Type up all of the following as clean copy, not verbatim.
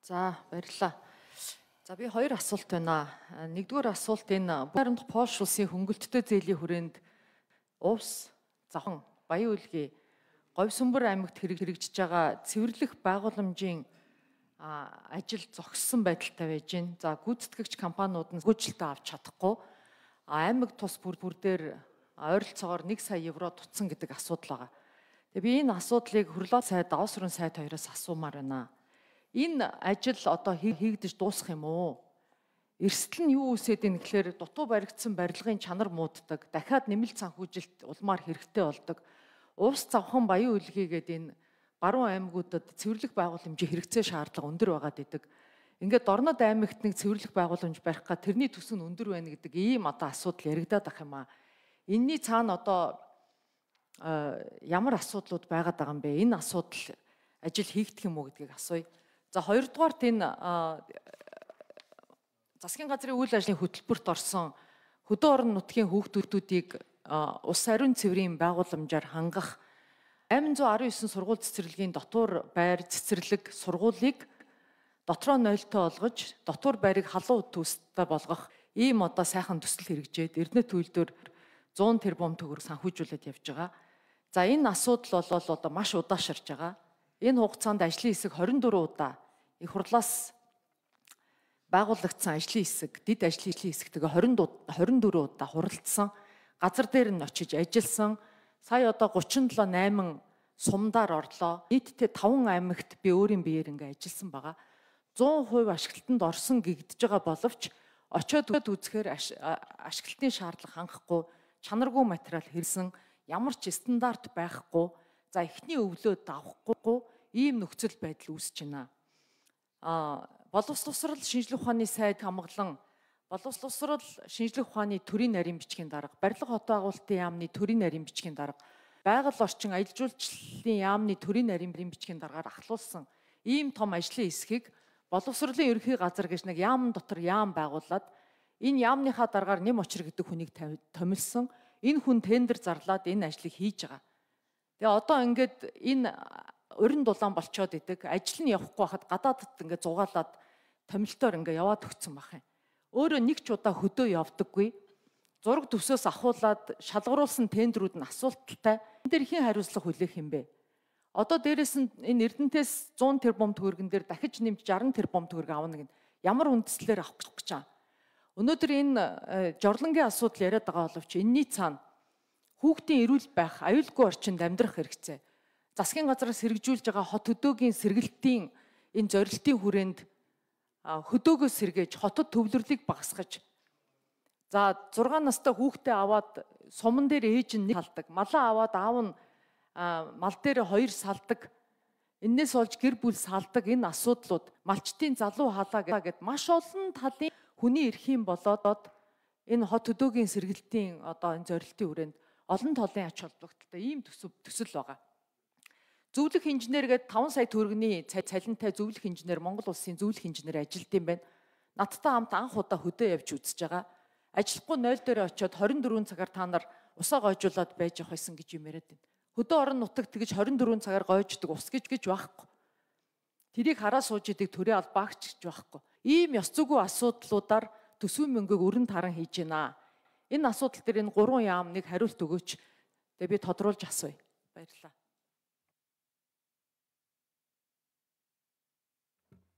За баярлалаа. За би хоёр асуулт байна. Нэгдүгээр асуулт энэ Буянд Польш улсын хөнгөлөлттэй зээлийн хүрээнд Увс, Зохон, Баян Үлгий, Говьсөнбөр аймагт хэрэгжиж байгаа цэвэрлэх байгууламжийн ажил зогссон байдалтай байж байна. За гүйцэтгэгч компаниуд нь хөгжилтөө авч чадахгүй аймаг тус бүр дээр ойролцоогоор 1 сая евро тутсан гэдэг асуудал байгаа. Тэгээ би энэ асуудлыг Хөрлөө сайд, Давс өрн сайд хоёроос асуумаар байна. Энэ ажил одоо хийгдэж дуусах юм уу? Эрсдэл нь юу үсээд ийн гэхээр дутуу баригдсан барилгын чанар мууддаг, дахиад нэмэлт санхүүжилт улмаар хэрэгтэй болдог. Увс, Завхан, Баян Үлгий гэдэг энэ баруун аймагуудад цэвэрлэх байгууламжийн хэрэгцээ шаардлага өндөр байгаад идэг. Ингээд Дорнод аймагт нэг цэвэрлэх байгууламж барих га тэрний төс нь өндөр байна гэдэг ийм одоо асуудал яригадаад ах юм аа. Энийний цаана одоо ямар асуудлууд байгаад байгаа юм бэ? Энэ асуудал ажил хийгдэх юм уу гэдгийг асууя. За хоёрдугаарт энэ засгийн газрын үйл ажлын хөтөлбөрт орсон хөдөө орон нутгийн хүүхдүүдийг ус ариун цэврийн байгууламжаар хангах 819 сургууль цэцэрлэгийн дотуур байр цэцэрлэг сургуулийг дотроо нойлтой олгож, дотуур байрыг халуун төстэй болгох ийм одоо сайхан төсөл хэрэгжээд Эрдэнэт үйлдвэр 100 тэрбум төгрөг санхүүжүүлээд явж байгаа. За энэ асуудал бол одоо маш удаашрж байгаа. Энэ хугацаанд ажлын хэсэг 24 удаа их хурлаас байгуулагдсан ажлын хэсэг, дэд ажлын хэсэгтэйгээ 24 удаа хуралдсан, газар дээр нь очиж ажилласан. Сая одоо 37-8 сумдаар орлоо. Нийтдээ 5 аймагт би өөрийн биеэр ингээ ажилласан байгаа. 100% ашиглалтанд орсон гэгдэж байгаа боловч очиод үзэхээр ашиглалтын шаардлага хангахгүй, чанаргүй материал хэрэгсэн, ямар ч стандарт байхгүй, за эхний өвлөө давхгүй ийм нөхцөл байдал үүсэж байна. Боловсрол шинжилгээ ухааны сайд хамглан боловсрол шинжилгээ ухааны төрийн нарийн бичгийн дарга, барилга хотоо агуултын яамны төрийн нарийн бичгийн дарга, байгаль орчин аялал жуулчлалын яамны төрийн нарийн бичгийн даргаар ахлуулсан ийм том ажлын хэсгийг боловсролын ерөнхий газар гэж нэг яам дотор яам байгуулад энэ яамныхаа дараагаар Нэм Очир гэдэг хүнийг томилсон. Энэ хүн тендер зарлаад энэ ажлыг хийж байгаа. Тэгээ одоо ингээд энэ урин дулаан болчоод идэг. Ажил нь явахгүй хахад гадаадд ингээд зугаалаад томилтоор ингээд яваад өгсөн байх юм. Өөрөө нэг ч удаа хөдөө явдаггүй. Зураг төсөөс ахуулаад шалгаруулсан тендерүүд нь асуулталтай. Энэ дээр хэн хариуцлага хүлээх юм бэ? Одоо дээрэс нь энэ Эрдэнэтээс 100 тэрбум төгрөгөн дээр дахиж нэмж 60 тэрбум төгрөг авна гэн ямар үндслээр авах гэж байгаа. Өнөөдөр энэ жорлонгийн асуудал яриад байгаа боловч энэний цаана хүүхдийн эрүүл байх, аюулгүй орчинд амьдрах хэрэгцээ. Засгийн газраас хэрэгжүүлж байгаа хот хөдөөгийн сэргэлтийн энэ зорилтын хүрээнд хөдөөгөө сэргээж хотод төвлөрлийг багасгаж. За 6 настай хүүхдээ аваад суман дээр ээж нь нэг салдаг, малаа аваад аав нь мал дээр 2 салдаг. Эннээс олж гэр бүл салдаг энэ асуудлууд малчтын залуу халаа гэд маш олон талын хүний эрхийн болоод энэ хот хөдөөгийн сэргэлтийн одоо энэ зорилтын хүрээнд олон талын ач холбогдолтой ийм төсөл байгаа. Зөвлөх инженер гээд 5 сая төгрөгийн цалинтай зөвлөх инженер Монгол улсын зөвлөх инженер ажилт юм байна. Надтай хамт анх удаа хөдөө явж үзэж байгаа. Ажилахгүй 0 дээр очиод 24 цагаар та нар усаа гойжуулаад байж явах байсан гэж юм яриад байна. Хөдөө орон нутагт тэгж 24 цагаар гойждаг ус гэж байхгүй. Тэрийг хараа сууж идэг төрийн албаагч гэж байхгүй. Ийм ёс зүйн асуудлуудаар төсвийн мөнгөийг өрн таран хийж байна. Энэ асуудал дээр энэ 3 яам нэг хариулт өгөөч. Тэгээ би тодруулж асууя. Баярлалаа.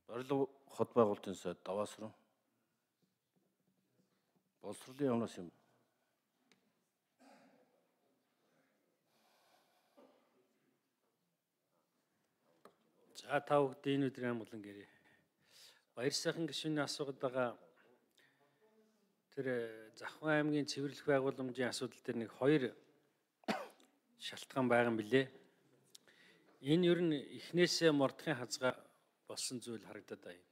Барилга хот байгуулалтын сайд Даваас руу. Боловсролын яамнаас юм. За та бүхэн энэ өдрийн амгалан гэрээ. Баяр сайхан гишүүний асуугаад байгаа тэр Завхан аймгийн цэвэрлэх байгууламжийн асуудал дээр нэг 2 шалтгаан байгаа юм билээ. Энэ ер нь эхнээсээ мордохын хазгаа болсон зүйл харагдаад байна.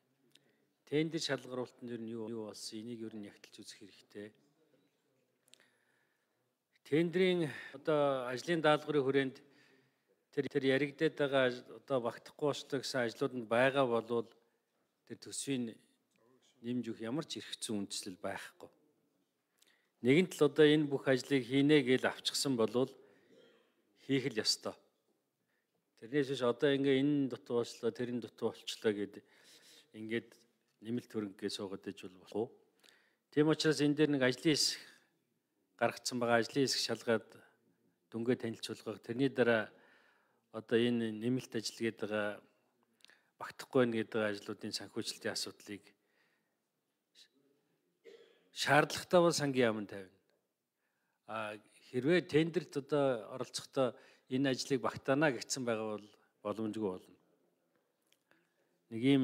Тендер шалгаруулалтанд ер нь юу болсон? Энийг ер нь ягталж үзэх хэрэгтэй. Тендерийн одоо ажлын даалгаврын хүрээнд тэр яригдээд байгаа одоо багтахгүй болчтой гэсэн ажлууданд байгаа болвол тэр төсвийн нэмж өгөх ямар ч эрх зүйн үндэслэл байхгүй. Нэгэнт л одоо энэ бүх ажлыг хийнэ гэж авчихсан болвол хийх л ёстой. Тэрнээс биш одоо ингээ энэ дутуу болчлоо, тэрэн дутуу болчлоо гэдэг ингээд нэмэлт хөрөнгөгээ суугаад иж болох уу? Тийм учраас энэ дээр нэг ажлын хэсэг гаргацсан байгаа, ажлын хэсэг шалгаад дүнгээ танилцуулгах. Тэрний дараа одоо энэ нэмэлт ажил гэдэг байгаа багтахгүй байна гэдэг ажлуудын санхүүжилтийн асуудлыг шаардлагатай бол сангийн яамд тавина. Хэрвээ тендерт одоо оролцохдоо энэ ажлыг багтаана гэсэн байгаа бол боломжгүй болно. Нэг ийм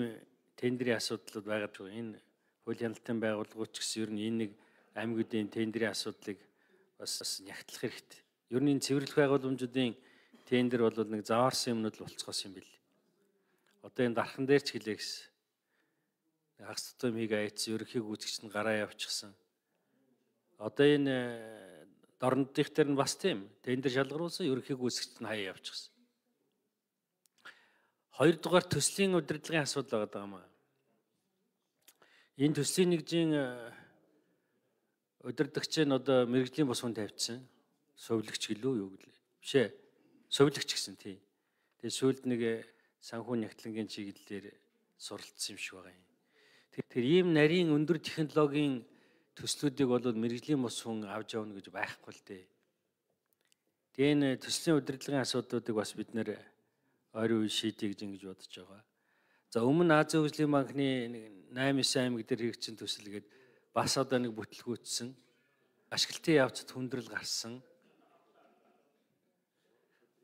тендерийн асуудлууд байгаад байгаа. Энэ хууль хяналтын байгууллагууд ч гэсэн ер нь энэ нэг аймагуудын тендерийн асуудлыг бас нягтлах хэрэгтэй. Ер нь энэ цэвэрлэх байгууламжуудын тендер бол нэг заваарсан юмнууд л болцгоос юм бэл. Одоо энэ дархан дээр ч хэлээ гэсэн. Хагас тутамыг айцсан ерөнхий гүйцэгч нь гараа явчихсан. Одоо энэ дорнодынх дээр нь бас тийм тендер шалгаруулсан ерөнхий гүйцэгч нь хаяа явчихсан. Хоёрдугаар төслийн удирдлагын асуудал байгаа юм аа. Энэ төслийн нэгжийн удирдагч нь одоо мэрэгжлийн босгон тавьчихсан. Сувилагч гэлөө юу гэлээ. Биш ээ. Сувилагч гэсэн тий. Тэгээ сүүлд нэг санхүү нягтлангийн чиглэлээр суралцсан юм шиг байгаа юм. Тэгэхээр ийм нарийн өндөр технологийн төслүүдийг бол мэрэгжлийн бус хүн авч явна гэж байхгүй л дээ. Тэгээ энэ төслийн удирдлагын асуудлуудыг бас бид нэр ойрын үе шийдье гэж ингэж бодож байгаа. За өмнө Азийн хөгжлийн банкны 8-9 аймаг дээр хэрэгжсэн төсөл гээд бас одоо нэг бүтлгүүцсэн. Ашиглалтын явцад хүндрэл гарсан.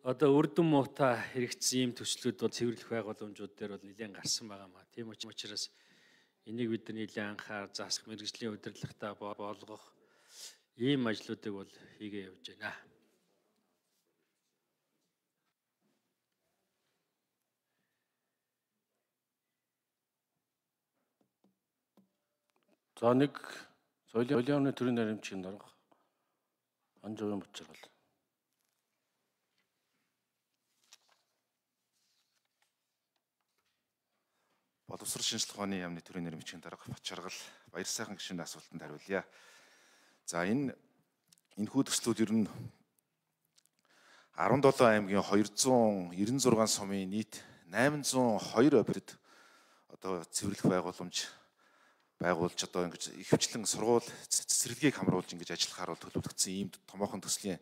Одоо үрдэн муутай хэрэгжсэн ийм төслүүд бол цэвэрлэх байгууламжууд дээр бол нэлээд гарсан байгаа маа. Тийм учраас энийг бид нар нэлээд анхаар засах, мэрэгжлийн удирдлагатай болгох ийм ажлуудыг бол хийгээ явж байна. За нэг соёлын яамны төрийн наримчийн дарга Анжовын Бочиргал. Боловсрол шинжилгээ ухааны яамны төрийн нэрмжийн дарга Бочиргал баяр сайхан гишүүний асуултанд хариулъя. За энэхүү төслүүд ер нь 17 аймгийн 296 сумын нийт 802 объект одоо цэвэрлэх байгууламж байгуулж одоо ингэж ихэвчлэн сургууль цэцэрлэгийг хамруулж ингэж ажиллахаар бол төлөвлөгдсөн ийм томоохон төслийн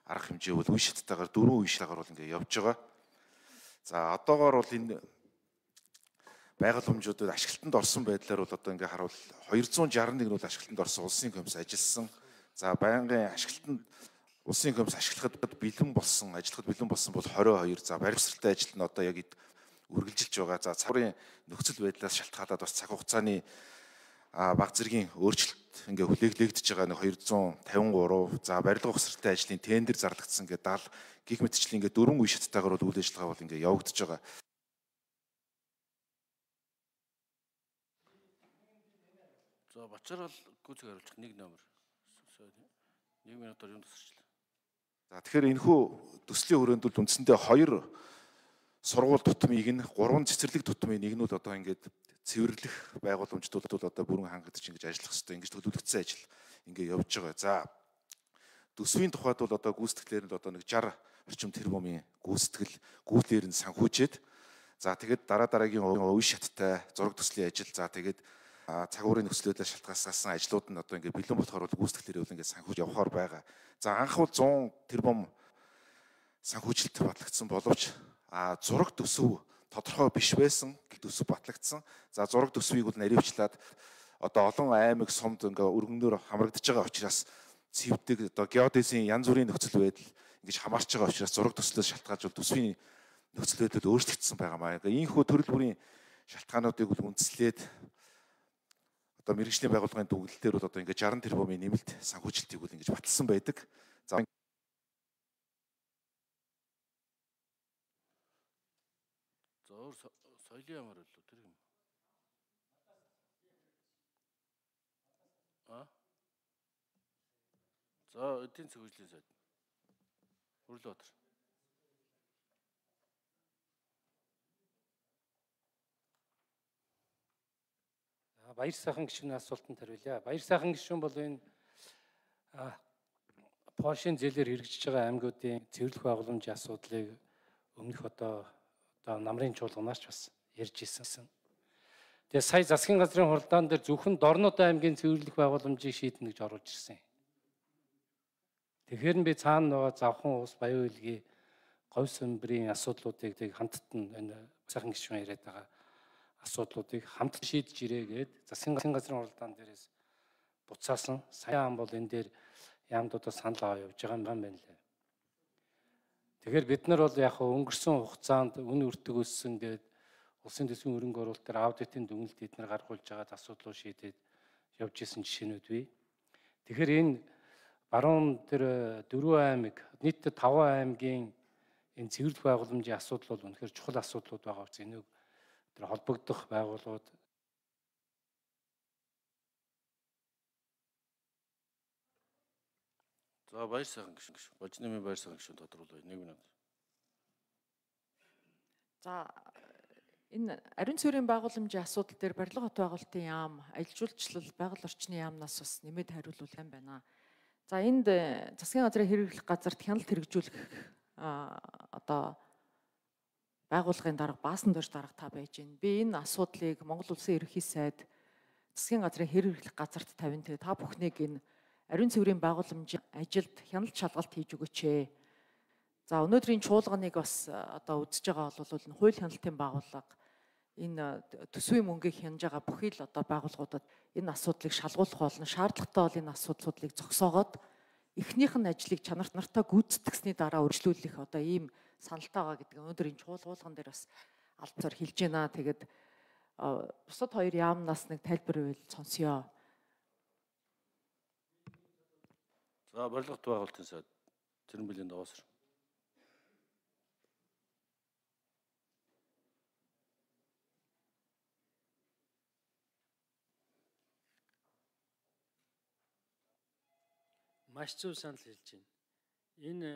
арга хэмжээ бол үе шаттайгаар 4 үе шатаагаар бол ингэ явж байгаа. За одоогоор бол энэ байгууламжуудад ашиглалтанд орсон байдлаар бол одоо ингэ харуул 261 нь бол ашиглалтанд орсон улсын комисс ажилласан. За байнгын ашиглалтанд улсын комисс ашиглахад бэлэн болсон, ажиллахад бэлэн болсон бол 22. За баримтсалтай ажил нь одоо яг үргэлжилж байгаа. За цагуурын нөхцөл байдлаас шалтгаалаад бас цаг хугацааны баг зэргийн өөрчлөлт ингээ хүлээглэгдэж байгаа нэг 253. За барилга ухсралтай ажлын тендер зарлагдсан ингээ 70 гих мэтчлэн ингээ 4 үе шаттайгаар бол үйл ажиллагаа бол ингээ явагдаж байгаа. За Бочиргал гүйцэг хариулчих 1 номер. 1 минутаар юм тусарчлаа. За тэгэхээр энэхүү төслийн хүрээнд бол үндсэндээ 2 сургууль тутмыг нь 3 цэцэрлэг тутмын нэг нь бол одоо ингээд цэвэрлэх байгууламжууд бол одоо бүрэн хангагдаж ингэж ажиллах хэрэгтэй ингэж төлөвлөгдсөн ажил ингээ явж байгаа. За төсвийн тухайд бол одоо гүйцэтгэлээр нь одоо нэг 60 орчим тэрбумын гүйцэтгэл нь санхүүжээд за тэгээд дараагийн үе шаттай зураг төслийн ажил за тэгээд цагуурын нөхцлөөдөө шалтгаалсан ажлууд нь одоо ингээ бэлэн болохоор бол гүйцэтгэлээр ингээ санхүүж явахаар байгаа. За анх бол 100 тэрбум санхүүжилт батлагдсан боловч зураг төсөв тодорхой биш байсан төсөв батлагдсан. За зураг төсвийг бол наривчлаад одоо олон аймаг сумд ингээ өргөнөөр хамрагдаж байгаа учраас цэвдэг одоо геодезийн янз бүрийн нөхцөл байдал ингэж хамаарч байгаа учраас зураг төслөөс шалтгаалж бол төсвийн нөхцөл байдал өөрчлөгдсөн байгаа маа. Ийхүү төрөл бүрийн шалтгаануудыг бол үндэслээд одоо мэрэгжлийн байгууллагын дүгнэлтээр бол одоо ингээ 60 тэрбумын нэмэлт санхүүжилтийг бол ингэж баталсан байдаг. За соёлын ямар болов тэр юм. За эдийн засгийн хөгжлийн сайд. Хүрлбаатар. Баяр сайхан гишүүний асуултанд хариулъя. Баяр сайхан гишүүн бол энэ Польшийн зээлээр хэрэгжиж байгаа аймагуудын цэвэрлэх байгууламжийн асуудлыг өмнөх одоо намрын чуулганаар ч бас ярьж ирсэн. Тэгээ сая засгийн газрын хуралдаан дээр зөвхөн Дорнод аймгийн цэвэрлэх байгууламжийг шийднэ гэж оруулж ирсэн. Тэгэхээр би цаана байгаа завхан ус, баян хөлгийн, говь сүмбрийн асуудлуудыг хамттан энэ сайхан гишүүн яриад байгаа асуудлуудыг хамт шийдэж ирээ гээд засгийн газрын хуралдаан дээрээс буцаасан. Саяхан бол энэ дээр яамдуудаа санал аваа явж байгаа юм байна лээ. Тэгэхээр бид нар бол яг өнгөрсөн хугацаанд үн өртөг өссөн гээд улсын төсвийн хөрөнгө оруулалт дээр аудитын дүгнэлт эднэр гаргуулж байгаа асуудлууд шийдээд явж исэн жишээнүүд бий. Тэгэхээр энэ баруун тэр 4 аймаг, нийтдээ 5 аймгийн энэ цэвэрлэх байгууламжийн асуудал бол үнэхээр чухал асуудлууд байгаа учраас энийг тэр холбогдох байгууллагууд За баяр сайхан гишүүн. Божнымын баяр сайхан гишүүн тодруулъя. 1 минут. За энэ ариун цэврийн байгууламжийн асуудал дээр барилга хот байгуулалтын яам, аялал жуулчлал, байгаль орчны яамнаас бас нэмээд хариулвал юм байна. За энд засгийн газрын хэрэглэх газарт хяналт хэрэгжүүлэх одоо байгууллагын дарга баасан дорж дарга та байж байна. Би энэ асуудлыг Монгол Улсын ерөнхий сайд засгийн газрын хэрэглэх газарт тавина. Тэгээ та бүхнийг энэ ариун цэврийн байгууламжийн ажилд хяналт шалгалт хийж өгөөч. За өнөөдрийн чуулганыг бас одоо үзэж байгаа бол энэ хууль хяналтын байгууллага энэ төсвийн мөнгийг хянаж байгаа бүхий л одоо байгууллагуудад энэ асуудлыг шалгуулах болно. Шаардлагатай бол энэ асуудлуудыг зогсоогоод эхнийх нь ажлыг чанарт нартаа гүйцэтгэсний дараа үргэлжлүүлэх одоо ийм саналтай байгаа гэдэг өнөөдрийн чуулган дээр бас албацаар хэлж байна. Тэгээд бусад хоёр яамнаас нэг тайлбар ивэл сонсъё. За барилга хот байгуулалтын сайд Цэрэнбэлийн Даваасар. Маш зөв санал хэлж байна. Энэ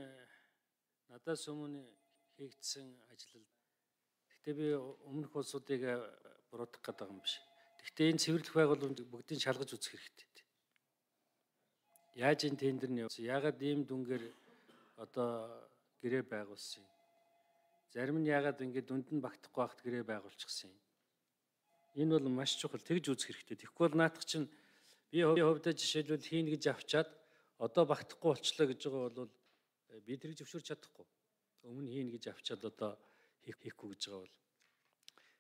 надаас өмнө хийгдсэн ажил. Гэхдээ би өмнөх улсуудыг буруутгах гэдэг юм биш. Гэхдээ энэ цэвэрлэх байгууламж бүгдийг шалгаж үзэх хэрэгтэй. Яаж энэ тендер нь явсан? Яагаад ийм дүнгээр одоо гэрээ байгуулсан юм? Зарим нь яагаад ингэ дүнд нь багтахгүй байхад гэрээ байгуулчихсан юм? Энэ бол маш чухал. Тэгж үзэх хэрэгтэй. Тэгэхгүй бол наадах чинь би хувьдаа жишээлбэл хийнэ гэж авчаад одоо багтахгүй болчлоо гэж байгаа бол би тэрийг зөвшөөрч чадахгүй. Өмнө хийнэ гэж авчаад одоо хийхгүй гэж байгаа бол.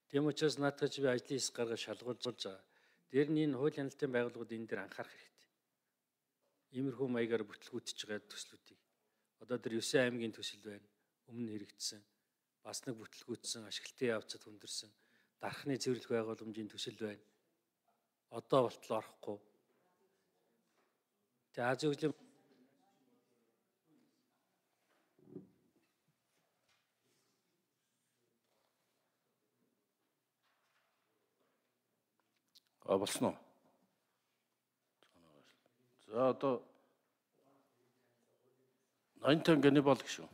Тийм учраас наадах чи би ажлын хэсэг гаргаж шалгуулж байгаа. Дээр нь энэ хууль хяналтын байгууллагууд энэ дээр анхаарах хэрэгтэй. Иймэрхүү маягаар бүтлгүүтж байгаа төслүүдийг. Одоо тэр 9 аймгийн төсөл байна. Өмнө хэрэгжсэн. Бас нэг бүтлгүүтсэн, ашиглалтын явцад хүндэрсэн. Дархны цэвэрлэх байгууламжийн төсөл байна. Одоо болтол орохгүй. Тэгээ Азийн хөгжлийн болсон уу? За одоо 85 гэнэ бол гişүү.